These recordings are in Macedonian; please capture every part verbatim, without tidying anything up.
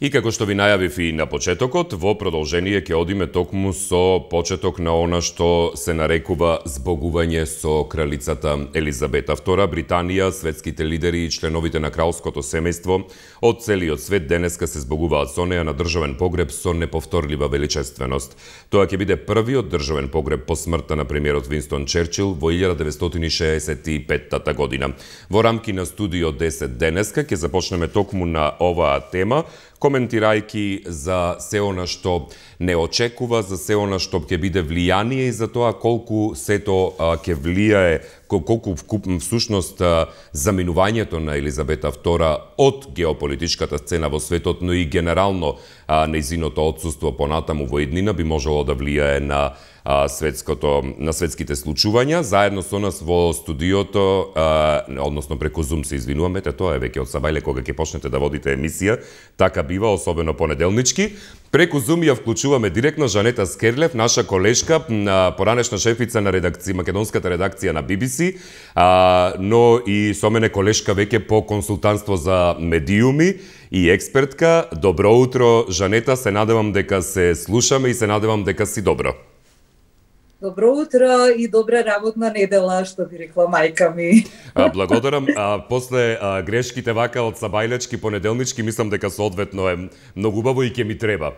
И како што ви најавив и на почетокот, во продолжение ќе одиме токму со почеток на она што се нарекува збогување со кралицата Елизабета втора. Британија, светските лидери и членовите на кралското семејство од целиот свет денеска се збогуваат со неа на државен погреб со неповторлива величественост. Тоа ќе биде првиот државен погреб по смртта на премиерот Винстон Черчил во илјада деветстотини шеесет и петта година. Во рамки на Студио десет денеска ќе започнеме токму на оваа тема, коментирајќи за се она што не очекува, за се она што ќе биде влијание и за тоа колку сето ќе влијае, колку всушност заминувањето на Елизабета втора од геополитичката сцена во светот, но и генерално нејзиното отсуство понатаму во иднина би можело да влијае на светското на светските случувања. Заедно со нас во студиото, односно преку Zoom се извинуваме, тоа е веќе од сабајле кога ќе почнете да водите емисија, така бива, особено понеделнички. Преку Zoom ја вклучуваме директно Жанета Скерлев, наша колешка, поранешна шефица на редакција, македонската редакција на Би Би Си, но и со мене колешка веќе по консултантство за медиуми и експертка. Добро утро, Жанета, се надевам дека се слушаме и се надевам дека си добро. Добро утро и добра работна недела, што би рекла мајка ми. А, благодарам. А, после а, грешките вака од сабајлечки понеделнички, мислам дека соодветно е многу убаво и ќе ми треба.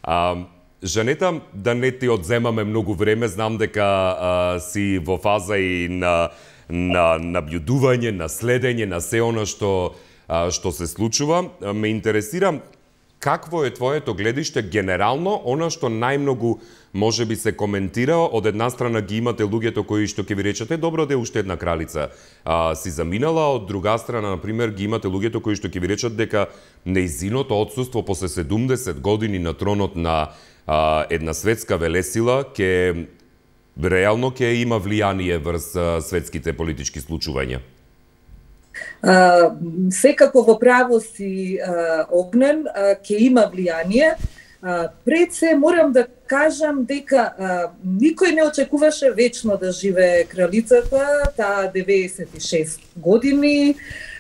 А, Жанета, да не ти одземаме многу време, знам дека а, си во фаза и на на набљудување, на следење, на се она што а, што се случува. Ме интересира какво е твоето гледиште генерално, она што најмногу може би се коментира. Од една страна ги имате луѓето кои што ќе ви речете добро да е уште една кралица а, си заминала, од друга страна, например, ги имате луѓето кои што ќе ви речат дека нејзиното отсуство после седумдесет години на тронот на а, една светска велесила ќе реално ќе има влијание врз а, светските политички случувања. Uh, секако во право си uh, Огнен, uh, ќе има влијание. Uh, пред се морам да кажам дека uh, никој не очекуваше вечно да живее кралицата, таа деветдесет и шест години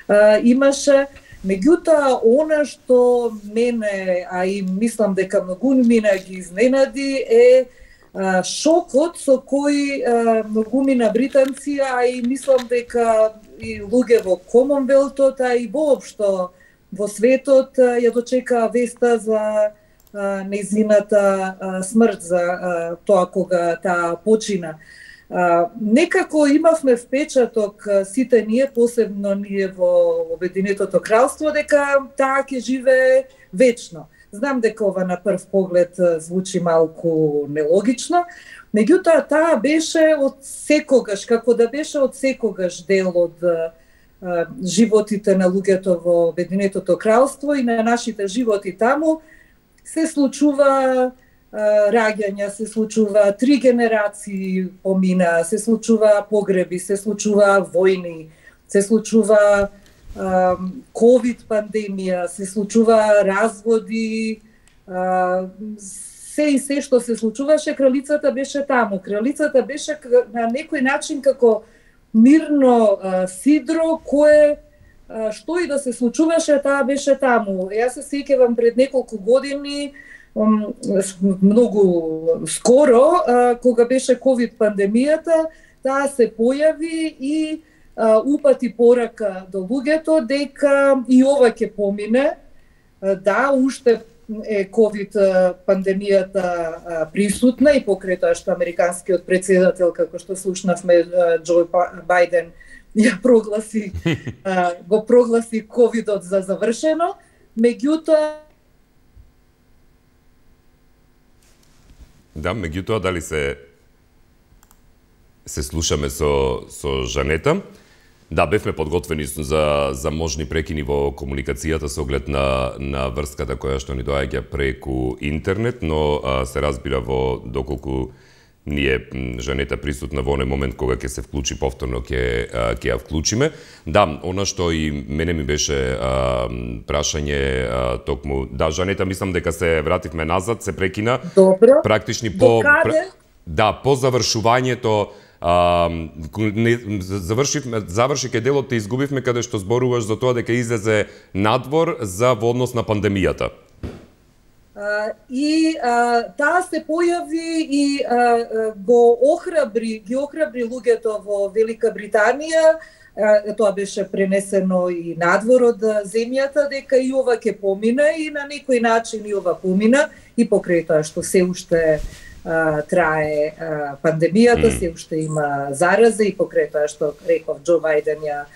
uh, имаше. Меѓутоа, она што мене, а и мислам дека многумина ги изненади е uh, шокот со кој uh, многумина британци, а и мислам дека и луѓе во Комонвелтот, а и воопшто во светот ја дочека веста за а, нејзината а, смрт, за а, тоа кога таа почина. А, некако имавме впечаток сите ние, посебно ние во Обединетото кралство, дека таа ќе живее вечно. Знам дека ова на прв поглед звучи малку нелогично, меѓутоа таа беше од секогаш, како да беше од секогаш дел од а, животите на луѓето во Обединетото кралство и на нашите животи таму. Се случува а, раѓања, се случува три генерации помина, се случува погреби, се случува војни, се случува ковид пандемија, се случува разводи, а, се и се што се случуваше, кралицата беше таму. Кралицата беше на некој начин како мирно а, сидро кое а, што и да се случуваше, таа беше таму. Јас се сеќавам пред неколку години, многу скоро, а, кога беше ковид пандемијата, таа се појави и а, упати порака до луѓето дека и ова ќе помине. А, да, уште е ковид пандемијата присутна и покрај тоа што американскиот претседател, како што слушнавме, Џо Бајден ја прогласи, го прогласи ковидот за завршено, меѓутоа Да, меѓутоа дали се се слушаме со со Жанета? Да, бевме подготвени за за можни прекини во комуникацијата со оглед на на врската која што ни доаѓа преку интернет, но а, се разбира во доколку ние Жанета присутна во оној момент кога ќе се вклучи повторно ќе ќе ја вклучиме. Да, она што и мене ми беше а, прашање а, токму. Да, Жанета, мислам дека се вративме назад, се прекина. Добро. Практични по пр... Да, по завршувањето. Uh, не, завршивме, завршике делот те изгубивме каде што зборуваш за тоа дека излезе надвор за во однос на пандемијата. и таа се појави и го охрабри, ги охрабри луѓето во Велика Британија. Тоа беше пренесено и надвор од земјата, дека и ова ќе помина, и на некој начин и ова помина, и покрај тоа што се уште а, трае а, пандемијата, mm. се уште има зараза, и покрај тоа што реков Џо Бајден ја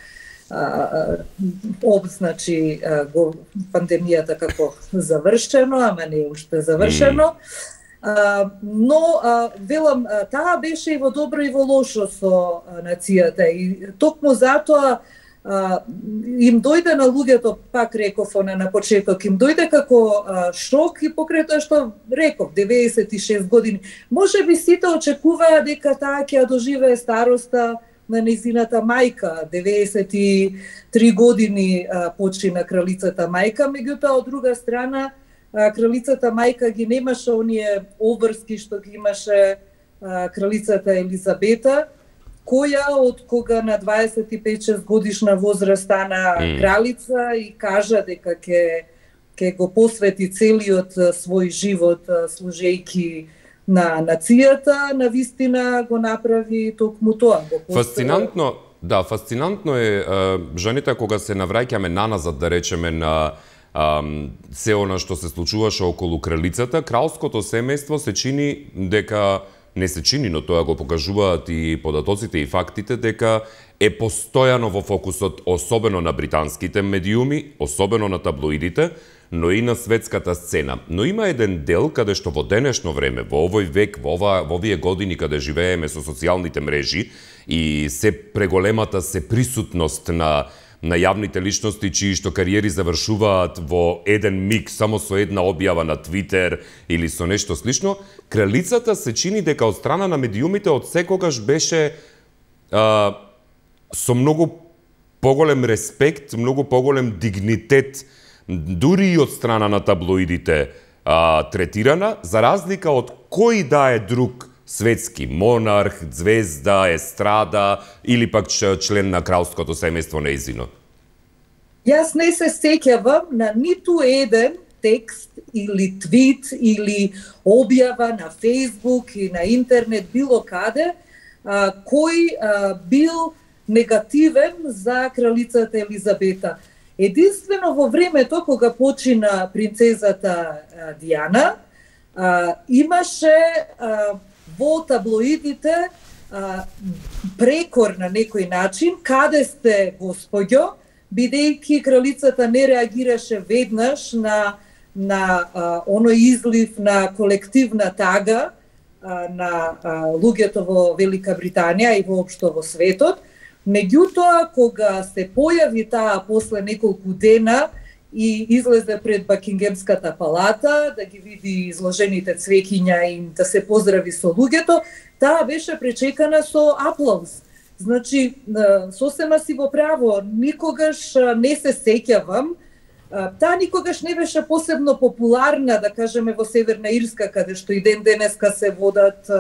обзначи го пандемијата како завршено, ама не уште завршено. Mm. Uh, но, uh, велам, uh, таа беше и во добро и во лошо со uh, нацијата, и токму затоа uh, им дојде на луѓето, пак реков она на почеток, им дојде како uh, шок, и покрај тоа што реков, деветдесет и шест години. Може би сите очекуваа дека таа ќе ја доживее староста на нејзината мајка, деветдесет и три години uh, почина кралицата мајка, меѓутоа од друга страна кралицата мајка ги немаше оние обврски што ги имаше а, кралицата Елизабета, која од кога на дваесет и пет шест годишна возраст стана mm. кралица и кажа дека ќе ќе го посвети целиот свој живот служејки на нацијата, на вистина го направи токму тоа. Фасцинантно, да, фасцинантно е жените кога се навраќаме наназад, да речеме, на Um, се она што се случуваше околу кралицата, кралското семејство се чини дека, не се чини, но тоа го покажуваат и податоците и фактите, дека е постојано во фокусот, особено на британските медиуми, особено на таблоидите, но и на светската сцена. Но има еден дел каде што во денешно време, во овој век, во, ова, во овие години каде живееме со социјалните мрежи и се преголемата се присутност на на јавните личности чии што кариери завршуваат во еден миг само со една објава на Твитер или со нешто слично, кралицата се чини дека од страна на медиумите од секогаш беше а, со многу поголем респект, многу поголем дигнитет, дури и од страна на таблоидите а, третирана, за разлика од кој да е друг светски монарх, звезда, естрада или пак член на кралското семејство нејзино? Јас не се сеќавам на ниту еден текст или твит или објава на Фејсбук и на интернет било каде а, кој а, бил негативен за кралицата Елизабета. Единствено во времето кога почина принцезата а, Диана, а, имаше а, во таблоидите а, прекор на некој начин, каде сте господјо, бидејќи кралицата не реагираше веднаш на, на а, оној излив на колективна тага а, на а, луѓето во Велика Британија и воопшто во светот. Меѓутоа, кога се појави таа после неколку дена и излезе пред Бакингемската палата, да ги види изложените цвеќиња и да се поздрави со луѓето, таа беше пречекана со аплауз. Значи, сосема си во право, никогаш не се сеќавам, таа никогаш не беше посебно популарна, да кажеме, во Северна Ирска, каде што и ден денеска се водат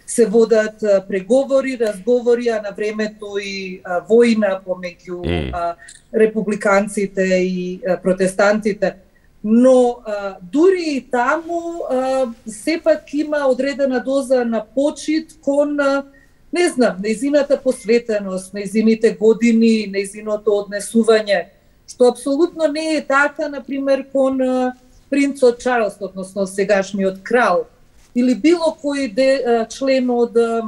се водат преговори, разговори, а на времето и војна помеѓу mm. републиканците и протестантите. Но а, дури и таму а, сепак има одредена доза на почит кон, а, не знам, нејзината посветеност, нејзините години, нејзиното однесување, што апсолутно не е така, например, кон а, принцот Чарлс, односно сегашниот крал, или било кој де, а, член од а,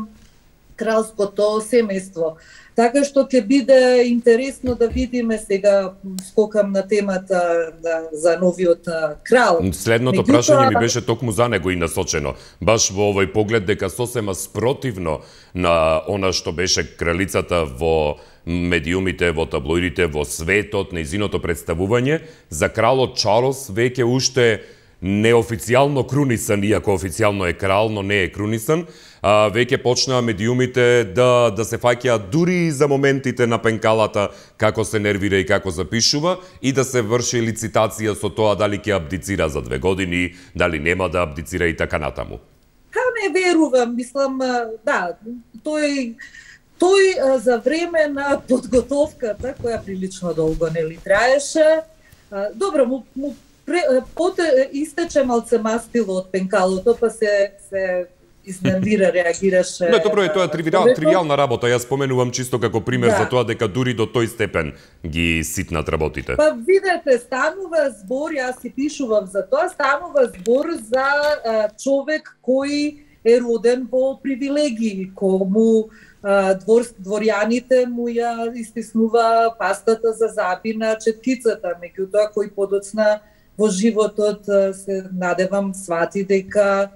кралското семејство. Така што ќе биде интересно да видиме, сега скокам на темата да, за новиот а, крал. Следното Мегуто... прашање ми беше токму за него и насочено. Баш во овој поглед дека сосема спротивно на она што беше кралицата во медиумите, во таблоидите, во светот, нејзиното представување, за кралот Чарлс веќе уште неофицијално крунисан, иако официјално е крал, но не е крунисан, а, веќе почнаа медиумите да, да се фаќаат дури за моментите на пенкалата, како се нервира и како запишува, и да се врши лицитација со тоа дали ќе абдицира за две години, дали нема да абдицира и така натаму. Ха, не верувам, мислам, да, тој тој за време на подготовката, која прилично долго нели траеше, добро, му, му поте истече малце мастило од пенкалото, па се се изненвира, реагираше. Не, добро е, тоа е тривиал, тривиална работа. Јас споменувам чисто како пример да. За тоа дека дури до тој степен ги ситнат работите. Па видете, станува збор, јас си пишувам за тоа, станува збор за а, човек кој е роден во привилегии, кому а, двор, дворјаните му ја истиснува пастата за заби на четкицата, меѓутоа кој подоцна во животот се надевам свати дека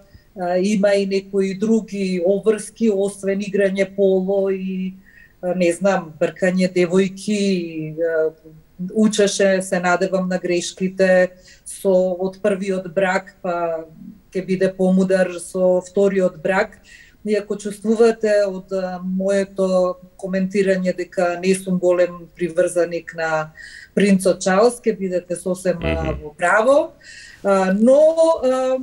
има и некои други обврски, освен играње поло и, не знам, бркање девојки, учеше, се надевам, на грешките со од првиот брак, па ќе биде помудар со вториот брак. И ако чувствувате од моето коментирање дека не сум голем приврзаник на принцот Чарлс, ќе бидете сосем mm-hmm. во право. Uh, но uh,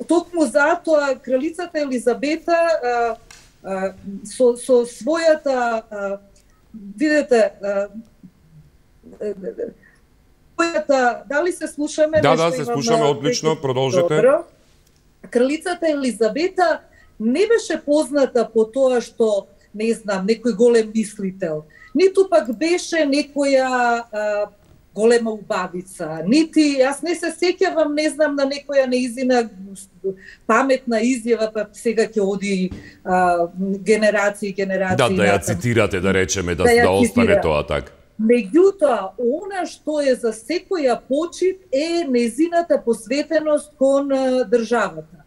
токму затоа кралицата Елизабета uh, uh, со, со својата uh, видете uh, својата, дали се слушаме? Да, да, се слушаме одлично, продолжете. Добро. Кралицата Елизабета не беше позната по тоа што, не знам, некој голем мислител, ниту пак беше некоја uh, голема убавица, нити, јас не се сеќавам, не знам, на некоја неизина паметна изјава, па сега ќе оди а, генерации, генерации. Да, да ја цитирате, да речеме, да, да, да остане тоа така. Меѓутоа, она што е за секоја почит е незината посветеност кон а, државата.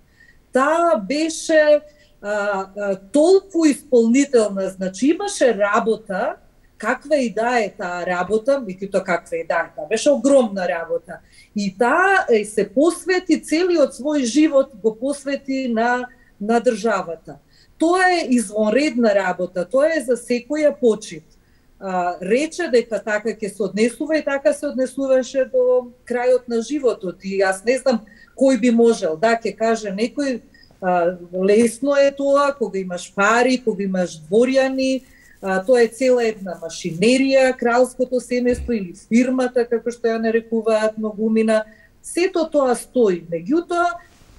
Таа беше а, а, толку исполнителна, значи имаше работа, каква и да е таа работа, меѓутоа каква и да е, таа беше огромна работа. И таа се посвети, целиот свој живот го посвети на, на државата. Тоа е извонредна работа, тоа е за секоја почит. А, рече дека така ќе се однесува и така се однесуваше до крајот на животот. И јас не знам кој би можел, да, ќе каже некој, а, лесно е тоа, кога имаш пари, кога имаш дворјани, А, тоа е цела една машинерија, кралското семејство или фирмата, како што ја нарекуваат многумина. Сето тоа стои. Меѓутоа,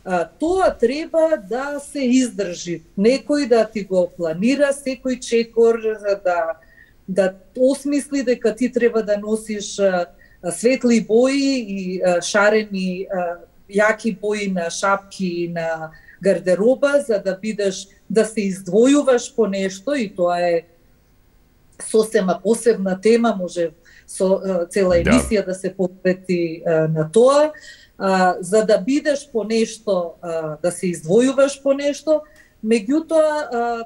а, тоа треба да се издржи. Некој да ти го планира секој чекор, за да, да осмисли дека ти треба да носиш а, светли бои и а, шарени а, јаки бои на шапки и на гардероба, за да бидеш, да се издвојуваш по нешто, и тоа е сосема посебна тема, може со uh, цела емисија да, да се посвети uh, на тоа, uh, за да бидеш по нешто, uh, да се издвојуваш по нешто, меѓутоа uh,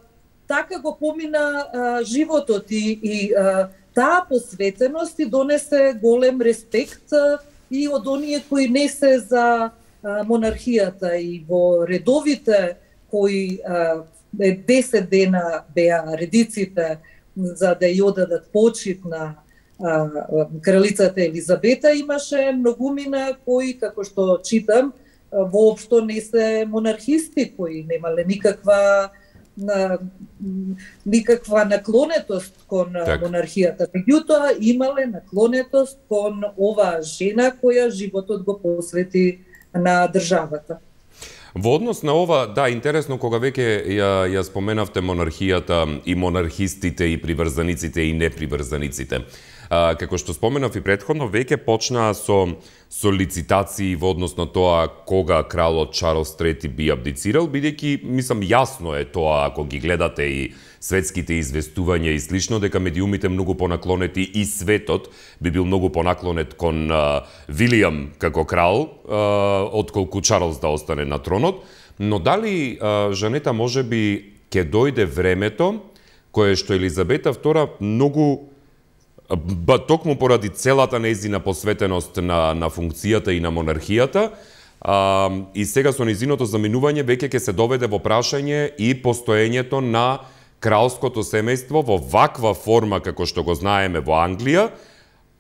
така го помина uh, животот и, и uh, таа посветеност и донесе голем респект uh, и од оние кои не се за uh, монархијата, и во редовите кои uh, десет дена беа редиците за да ја одадат почит на а, кралицата Елизабета, имаше многумина кои, како што читам, воопшто не се монархисти, кои немале никаква на, никаква наклонетост кон так. монархијата. Меѓутоа имале наклонетост кон оваа жена која животот го посвети на државата. Во однос на ова, да, интересно, кога веќе ја, ја споменавте монархијата и монархистите и приврзаниците и неприврзаниците. А, како што споменав и претходно, веќе почнаа со, со лицитации во однос на тоа кога кралот Чарлс трети би абдицирал, бидејќи, мислам, јасно е тоа ако ги гледате и светските известувања и слично, дека медиумите многу понаклонети и светот би бил многу понаклонет кон а, Вилијам како крал, а, отколку Чарлс да остане на тронот. Но дали а, Жанета можеби ќе дојде времето кое што Елизабета втора многу ба токму поради целата нејзина посветеност на, на функцијата и на монархијата, а, и сега со нејзиното заминување веќе ќе се доведе во прашање и постоењето на кралското семејство во ваква форма како што го знаеме во Англија,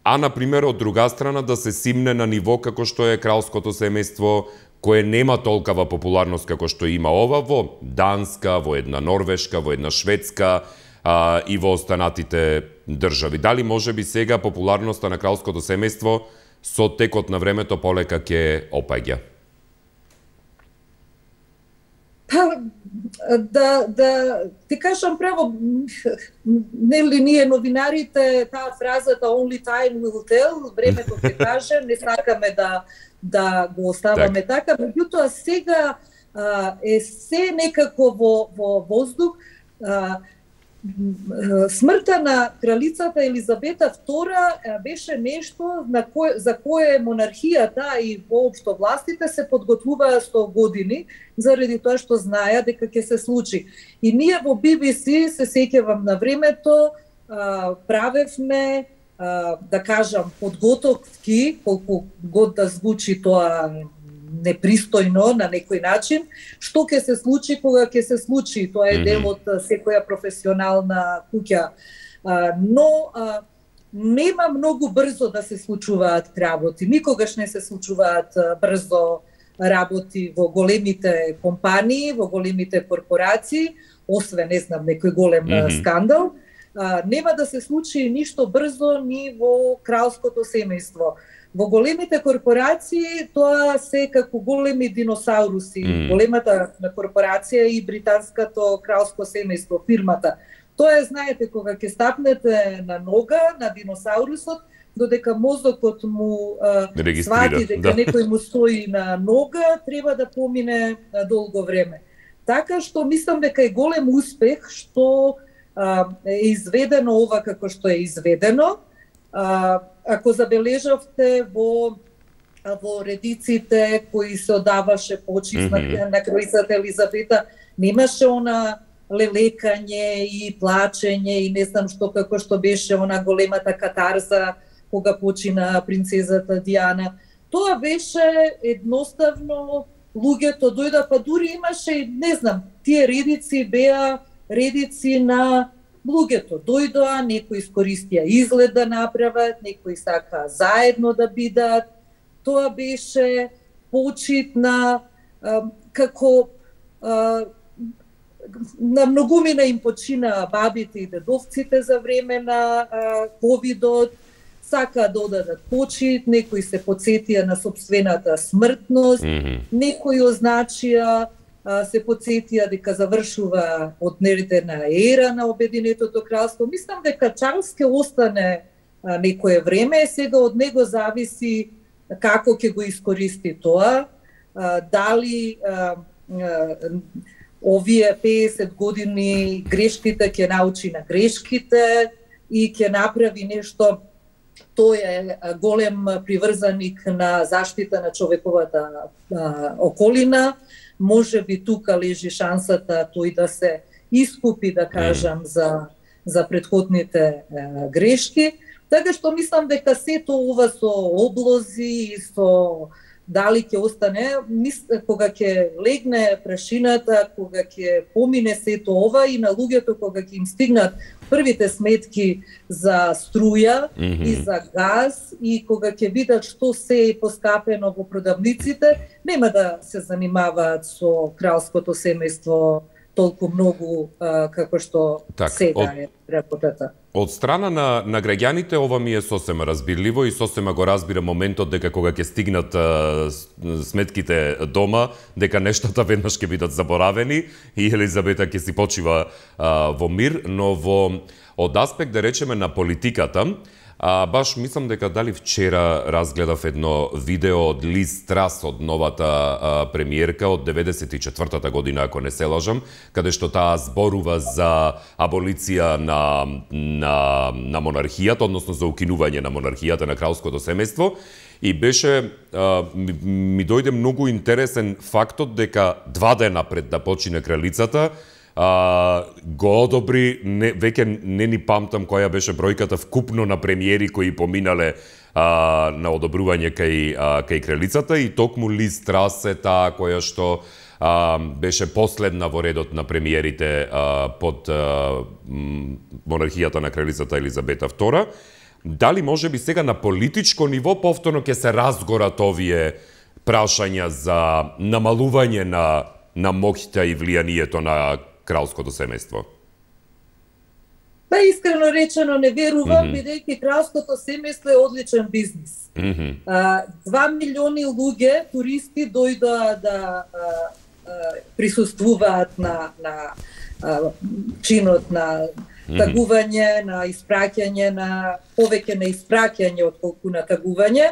а например од друга страна да се симне на ниво како што е кралското семејство кое нема толкава популарност како што има ова во Данска, во една Норвешка, во една Шведска, а, и во останатите држави. Дали може би сега популарноста на кралското семејство со текот на времето полека ќе опаѓа? Па, да, да ти кажам право, нели ние новинарите, таа фразата only time will tell, времето ќе каже, не сакаме да да го оставаме так. така, меѓутоа сега а, е се некако во, во воздух. А, смртта на кралицата Елизабета втора беше нешто на кое, за кое монархијата и воопшто властите се подготвуваа сто години, заради тоа што знаеа дека ќе се случи. И ние во Би Би Си, се сеќавам на времето, правевме, да кажам, подготовки, колку год да звучи тоа непристојно на некој начин, што ќе се случи кога ќе се случи. Тоа е дел од секоја професионална куќа. Но нема многу брзо да се случуваат работи. Никогаш не се случуваат брзо работи во големите компании, во големите корпорации, освен, не знам, некој голем mm-hmm. скандал. Нема да се случи ништо брзо ни во кралското семејство. Во големите корпорации тоа се како големи диносауруси. Mm. Големата корпорација и британското кралско семејство, фирмата. Тоа е, знаете, кога ќе стапнете на нога на диносаурусот, додека мозокот му а, свати дека да. некој му стои на нога, треба да помине а, долго време. Така што мислам дека е голем успех што а, е изведено ова како што е изведено. А, ако забележавте во во редиците кои се одаваше почит mm-hmm. на кралицата Елизабета, немаше она лелекање и плачење и не знам што, како што беше она големата катарза кога почина принцезата Диана. Тоа беше едноставно, луѓето дојда, па дури имаше, не знам, тие редици беа редици на луѓето. Дојдоа, некои искористија изглед да направат, некои сака заедно да бидат. Тоа беше почит на а, како а, на многумина им почина бабите и дедовците за време на а, ковидот. Сака да одадат почит, некои се потсетија на собствената смртност, mm-hmm. некои означија се потсетија дека завршува одневна ера на Обединетото кралство. Мислам дека Чарлс ќе остане а, некое време, сега од него зависи како ќе го искористи тоа, а, дали а, а, овие песет години грешките ќе научи на грешките и ќе направи нешто. Тој е голем приврзаник на заштита на човековата а, околина. Може би тука лежи шансата тој да се искупи, да кажам, mm. за, за предходните е, грешки. Така што мислам дека сето ова со облози и со дали ќе остане, мис, кога ќе легне прашината, кога ќе помине сето ова и на луѓето кога ќе им стигнат првите сметки за струја mm-hmm. и за газ и кога ќе видат што се е поскапено во продавниците, нема да се занимаваат со кралското семејство толку многу а, како што так, сега од, е работата. Од страна на, на граѓаните ова ми е сосема разбирливо и сосема го разбира моментот дека кога ќе стигнат а, сметките дома, дека нештата веднаш ќе бидат заборавени и Елизабета ќе си почива а, во мир, но во од аспект, да речеме, на политиката, А, баш мислам дека дали вчера разгледав едно видео од Лиз Трас, од новата а, премиерка од деветдесет и четвртата година, ако не се лажам, каде што таа зборува за аболиција на, на, на монархијата, односно за укинување на монархијата, на кралското семејство. И беше, а, ми, ми дојде многу интересен фактот дека два дена пред да почине кралицата, Uh, го одобри, не, веќе не ни памтам која беше бројката вкупно на премиери кои поминале uh, на одобрување кај, uh, кај кралицата и токму Лиз Трас е таа која што uh, беше последна во редот на премиерите uh, под uh, монархијата на кралицата Елизабета втора. Дали може би сега на политичко ниво повторно ќе се разгорат овие прашања за намалување на, на моќта и влијанието на кралското семејство? Па искрено речено не верувам, mm-hmm. бидејќи кралското семејство е одличен бизнис. Mm-hmm. А, два милиони луѓе, туристи, дојдоа да а, а, присуствуваат на, на а, чинот на тагување, на испраќање, на повеќе на испраќање отколку на тагување.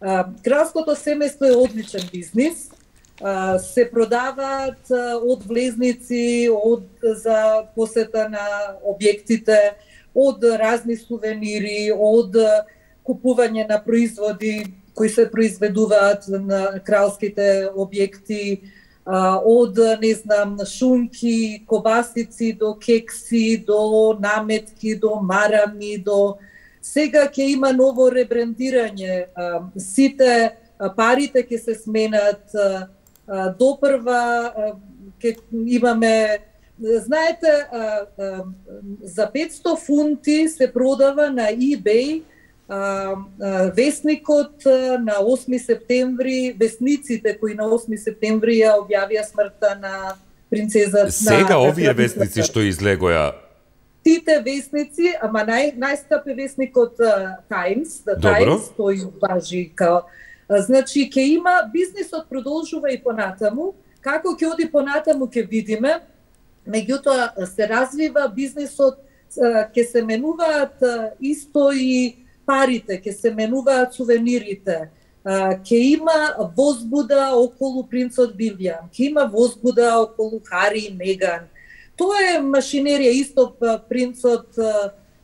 А, кралското семејство е одличен бизнис. А, се продаваат од влезници, од за посета на објектите, од разни сувенири, од купување на производи кои се произведуваат на кралските објекти, од, не знам, шунки, кобасици, до кекси, до наметки, до марами, до... Сега ќе има ново ребрендирање. Сите парите ќе се сменат, допрва ќе имаме... Знаете, за петсто фунти се продава на eBay весникот на осми септември, весниците кои на осми септември ја објавија смртта на принцезата. Сега на, овие весници што излегоја. Тите весници, ама нај најскап е весникот Times, the Добро. Times, тој важи као. Значи ќе има, бизнисот продолжува и понатаму, како ќе оди понатаму ќе видиме. Меѓутоа се развива бизнисот, ќе се менуваат исто и парите, ќе се менуваат сувенирите, ќе има возбуда околу принцот Билјан, ќе има возбуда околу Хари и Меган. Тоа е машинерија, исто принцот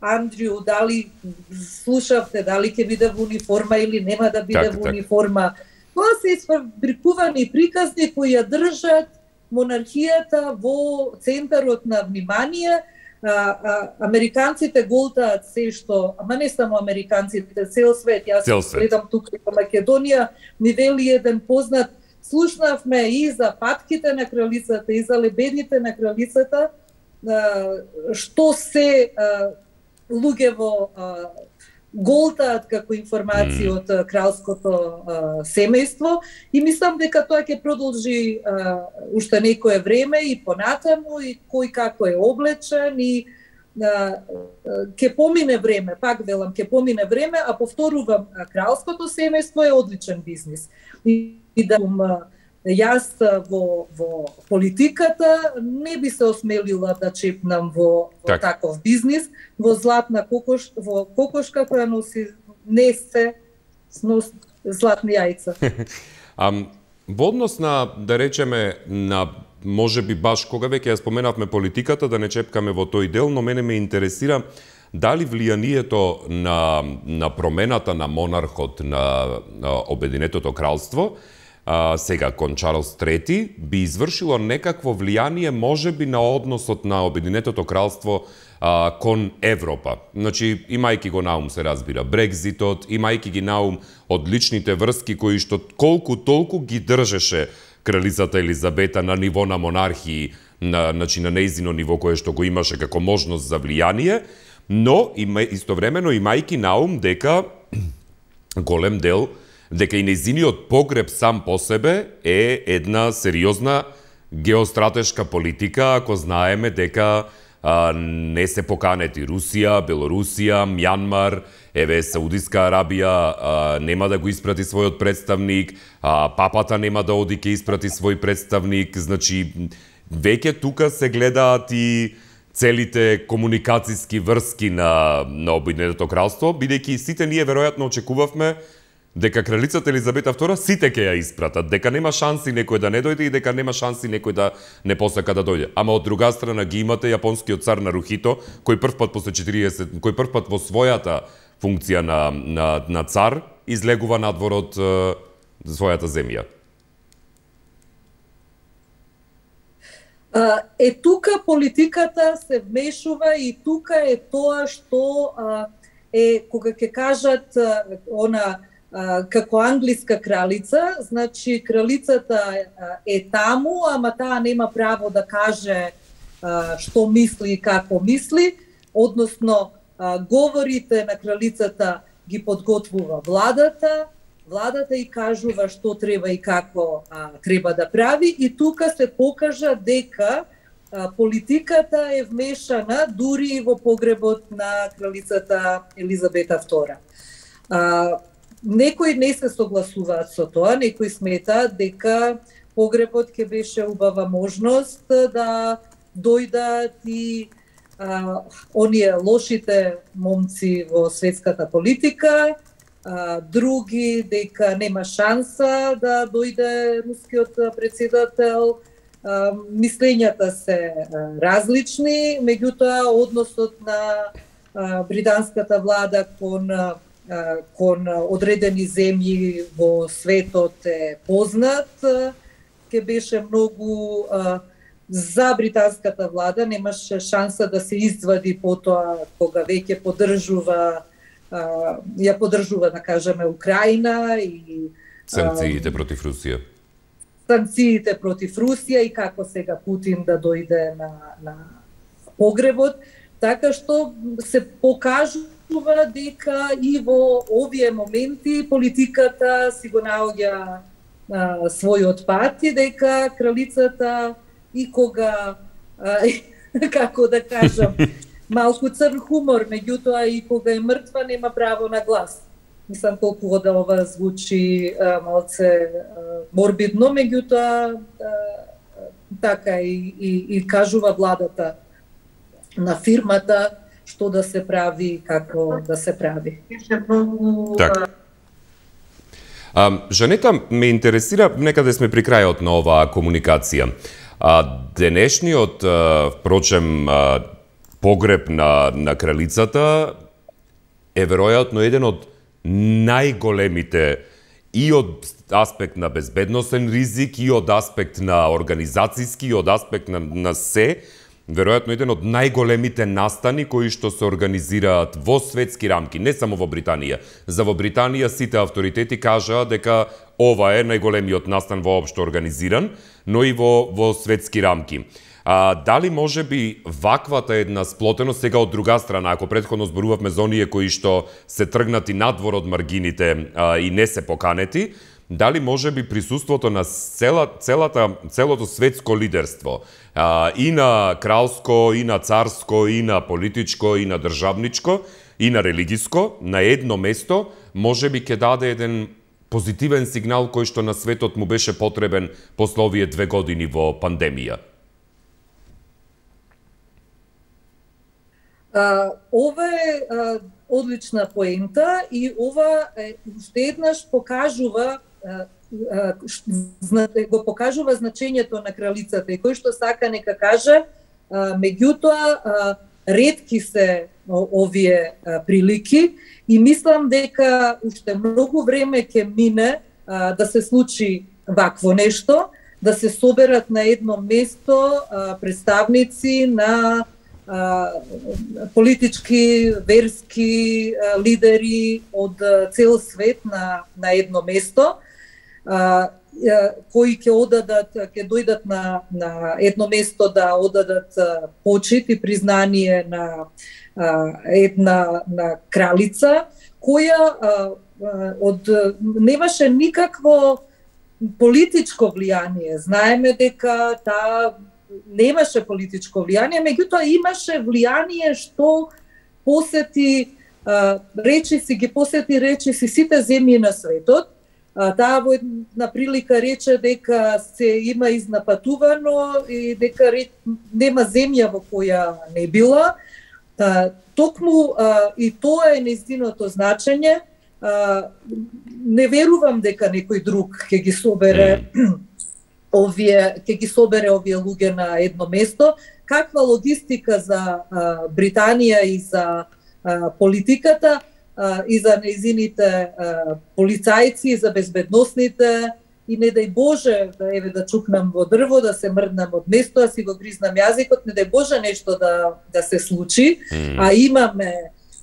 Андрю, дали слушавте, дали ќе биде во униформа или нема да биде так, во так. униформа. Тоа се исприкувани приказни кои ја држат монархијата во центарот на внимание. А, а, американците голтаат се што, ама не само американците, цел свет. Јас Цел свет. гледам тука во Македонија, ми вели еден познат, слушнавме и за патките на кралицата, и за лебедите на кралицата, а, што се а, луѓе во а, голтаат како информации од mm. кралското а, семејство, и мислам дека тоа ќе продолжи а, уште некое време и понатаму, и кој како е облечен, и а, ќе помине време, пак велам, ќе помине време, а повторувам, кралското семејство е одличен бизнис. И, и да јас во, во политиката не би се осмелила да чепнам во, во так. таков бизнис, во златна кокош, во кокошка која носи не се снос златни јајца. А, во однос на, да речеме, на може би баш кога веќе ја споменавме политиката, да не чепкаме во тој дел, но мене ме интересира дали влијанието на, на промената на монархот на, на Обединетото кралство, а, сега кон Чарлс трети, би извршило некакво влијание можеби на односот на Обединетото кралство а, кон Европа. Значи, имајќи го наум, се разбира, Брекзитот, имајќи ги наум одличните врски кои што колку толку ги држеше кралицата Елизабета на ниво на монархии, на, значи, на нејзино ниво кое што го имаше како можност за влијание, но има, истовремено имајќи наум дека голем дел, дека и нејзиниот погреб сам по себе е една сериозна геостратешка политика, ако знаеме дека а, не се поканети Русија, Белорусија, Мјанмар, еве Саудиска Арабија а, нема да го испрати својот представник, а, папата нема да оди ке испрати свој представник, значи веќе тука се гледаат и целите комуникацијски врски на, на Обединетото кралство, бидејќи сите ние веројатно очекувавме дека кралицата Елизабета втора сите ќе ја испратат, дека нема шанси некој да не дојде и дека нема шанси некој да не посака да дојде. Ама од друга страна ги имате јапонскиот цар Нарухито, кој првпат после четириесет, кој првпат во својата функција на, на, на цар излегува надвор од е, својата земја. Е, тука политиката се вмешува и тука е тоа што е, кога ќе кажат она како англиска кралица, значи кралицата е таму, ама таа нема право да каже што мисли и како мисли, односно говорите на кралицата ги подготвува владата, владата и кажува што треба и како а, треба да прави, и тука се покажа дека политиката е вмешана дури и во погребот на кралицата Елизабета втора. А, некои не се согласуваат со тоа, некои сметаат дека погребот ќе беше убава можност да дојдат и а, оние лошите момци во светската политика, а, други дека нема шанса да дојде рускиот председател. Uh, мислењата се uh, различни, меѓутоа односот на uh, британската влада кон, uh, кон одредени земји во светот е познат, uh, ке беше многу uh, за британската влада, немаше шанса да се извади потоа кога веќе поддржува uh, ја поддржува, да кажеме, Украина и санкциите uh, против Русија. санкциите против Русија и како сега Путин да дојде на, на погребот, така што се покажува дека и во овие моменти политиката си го наоѓа а, својот пат и дека кралицата и кога, а, како да кажам, малку црн хумор, меѓутоа и кога е мртва нема право на глас. Мислам колку да ова звучи а, малце а, морбидно, меѓутоа така и, и, и кажува владата на фирмата што да се прави и како да се прави. Так. А, Жанета, ме интересира, некаде сме при крајот на оваа комуникација. А, денешниот, а, впрочем, а, погреб на, на кралицата е веројатно еден од најголемите и од аспект на безбедносен ризик, и од аспект на организацијски, и од аспект на, на се, веројатно еден од најголемите настани кои што се организираат во светски рамки, не само во Британија. За во Британија сите авторитети кажаа дека ова е најголемиот настан воопшто организиран, но и во, во светски рамки. А, дали може би ваквата една сплотеност, сега од друга страна, ако претходно зборувавме за оние кои што се тргнати надвор од маргините а, и не се поканети, дали може би присуството на цела, целата, целото светско лидерство, а, и на кралско, и на царско, и на политичко, и на државничко, и на религиско, на едно место, може би ќе даде еден позитивен сигнал кој што на светот му беше потребен после овие две години во пандемија? Uh, ова е uh, одлична поента и ова е, уште еднаш покажува uh, uh, го покажува значењето на кралицата и кој што сака нека каже, uh, меѓутоа uh, ретки се овие uh, прилики и мислам дека уште многу време ќе мине uh, да се случи вакво нешто, да се соберат на едно место uh, представници на политички, верски лидери од цел свет на, на едно место, кои ќе одадат, ќе дојдат на, на едно место да одадат почит и признание на една на кралица, која од немаше никакво политичко влијание. Знаеме дека таа немаше политичко влијание, меѓутоа имаше влијание што посети а, речиси, ги посети речиси сите земји на светот. А, таа во една прилика рече дека се има изнапатувано и дека ре, нема земја во која не била. А, токму а, и тоа е нејзиното значење. А, не верувам дека некој друг ќе ги собере овие, ќе ги собере овие луѓе на едно место. Каква логистика за а, Британија и за а, политиката а, и за нејзините а, полицајци и за безбедносните и не дај Боже да еве да чукнам во дрво, да се мрднам од место, да си го гризнам јазикот, не дај Боже нешто да да се случи, mm. а имаме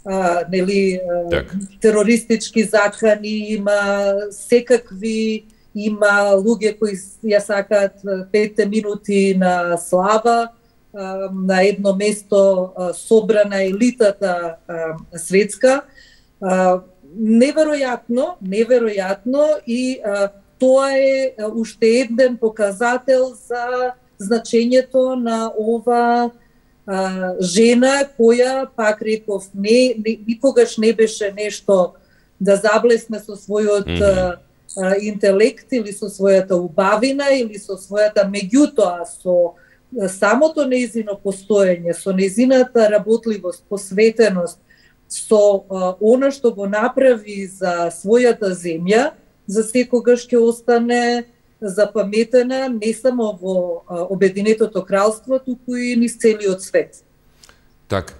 а, нели а, терористички закани, има секакви има луѓе кои ја сакаат петте минути на слава, на едно место собрана елитата светска. Неверојатно, неверојатно и тоа е уште еден показател за значењето на ова а, жена која, пак реков, не, не, никогаш не беше нешто да заблесне со својот mm -hmm. а, интелект или со својата убавина или со својата, меѓутоа со самото нејзино постоење, со нејзината работливост, посветеност, со а, она што го направи за својата земја, за секогаш ќе остане запаметена не само во а, Обединетото кралство, туку и низ целиот свет. Так,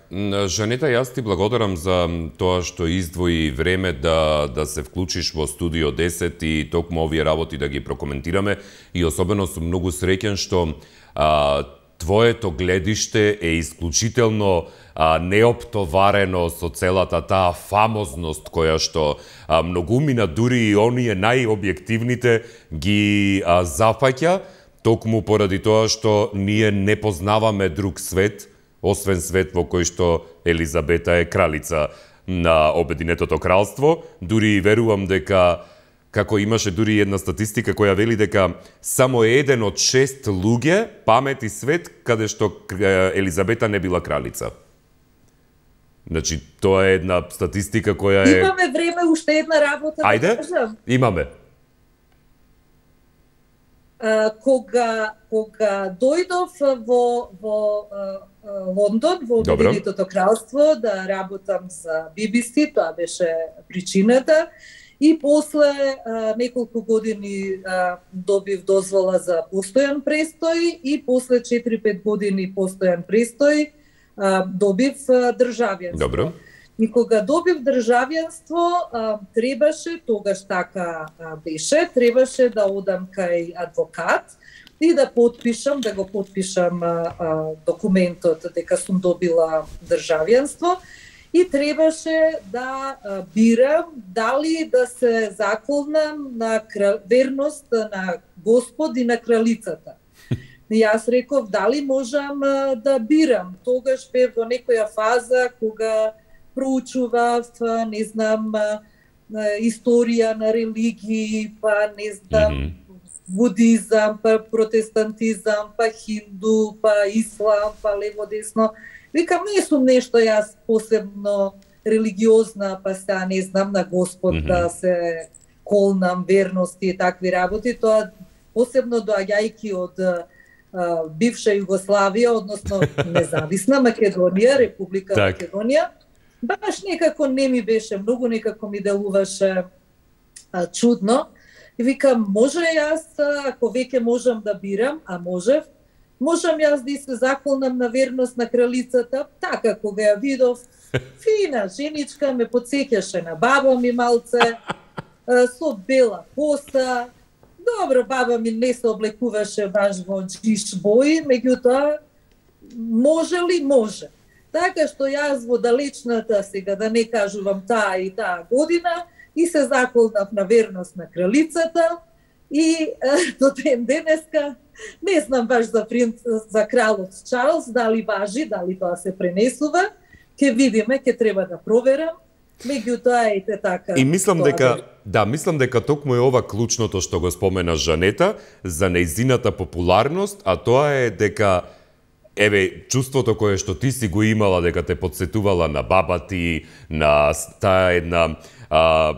Жанета, јас ти благодарам за тоа што издвои време да да се вклучиш во Студио десет и токму овие работи да ги прокоментираме, и особено сум многу среќен што а, твоето гледиште е исклучително а, неоптоварено со целата таа фамозност која што а, многумина, дури и оние најобјективните, ги а, зафаќа, токму поради тоа што ние не познаваме друг свет, освен свет во кој што Елизабета е кралица на Обединетото кралство. Дури и верувам дека, како имаше дури една статистика која вели дека само еден од шест луѓе памети свет каде што Елизабета не била кралица. Значи, тоа е една статистика која е... Имаме време, уште една работа. Ајде, да кажам. Имаме. Uh, кога кога дојдов во во uh, Лондон, во Обединетото кралство, да работам за Би Би Си, тоа беше причината, и после uh, неколку години uh, добив дозвола за постојан престој и после четири-пет години постојан престој uh, добив uh, државјанство. Добро. И кога добив државјанство, требаше, тогаш така беше, требаше да одам кај адвокат и да подпишам, да го подпишам документот дека сум добила државјанство, и требаше да бирам дали да се заколнам на верност на Господ и на кралицата. И јас реков дали можам да бирам. Тогаш бев во некоја фаза кога проучував, не знам, историја на религии, па не знам, mm -hmm. будизам, па протестантизам, па хинду, па ислам, па лево-десно. Викам, не сум нешто јас посебно религиозна, па сега не знам на Господ mm -hmm. да се колнам, верности и такви работи. Тоа посебно доаѓајќи од а, бивша Југославија, односно независна Македонија, Република так. Македонија, баш некако не ми беше многу, некако ми делуваше а, чудно. И викам, може јас, ако веќе можам да бирам, а можев, можам јас да се заколнам на верност на кралицата. Така, кога ја видов, фина женичка, ме подсеќаше на баба ми малце, а, со бела коса. Добро, баба ми не се облекуваше баш во джиш бои, меѓутоа, може ли? Може. Така што јас во далечната, сега да не кажувам таа и таа година, и се заколнав на верност на кралицата, и е, до ден денеска не знам баш за принц, за кралот Чарлс, дали важи, дали тоа се пренесува, ќе видиме, ќе треба да проверам, меѓутоа ете така. И мислам дека, да, мислам дека токму е ова клучното што го спомена Жанета, за нејзината популарност, а тоа е дека еве, чувството кое што ти си го имала, дека те подсетувала на баба ти, на таа една а,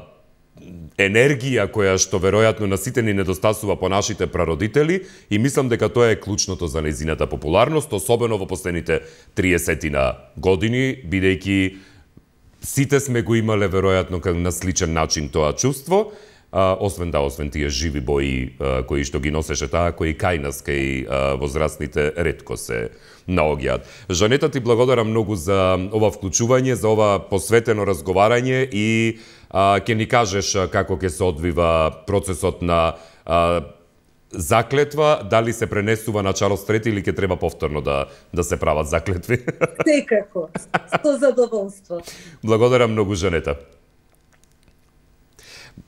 енергија која што веројатно на сите ни недостасува по нашите прародители, и мислам дека тоа е клучното за нејзината популарност, особено во последните триесетина години, бидејќи сите сме го имале веројатно на сличен начин тоа чувство, а, освен да, освен тие живи бои а, кои што ги носеше таа, кои кај нас, кај а, возрастните, ретко се наоѓаат. Жанета, ти благодарам многу за ова вклучување, за ова посветено разговарање, и а, ќе ни кажеш како ќе се одвива процесот на а, заклетва, дали се пренесува на Чарлс трети или ќе треба повторно да да се прават заклетви. Секако, со задоволство. Благодарам многу, Жанета.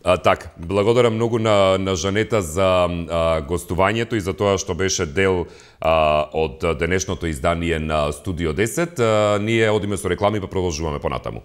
А, так, благодарам многу на, на Жанета за а, гостувањето и за тоа што беше дел а, од денешното издание на Студио десет. А, ние одиме со реклами, па продолжуваме понатаму.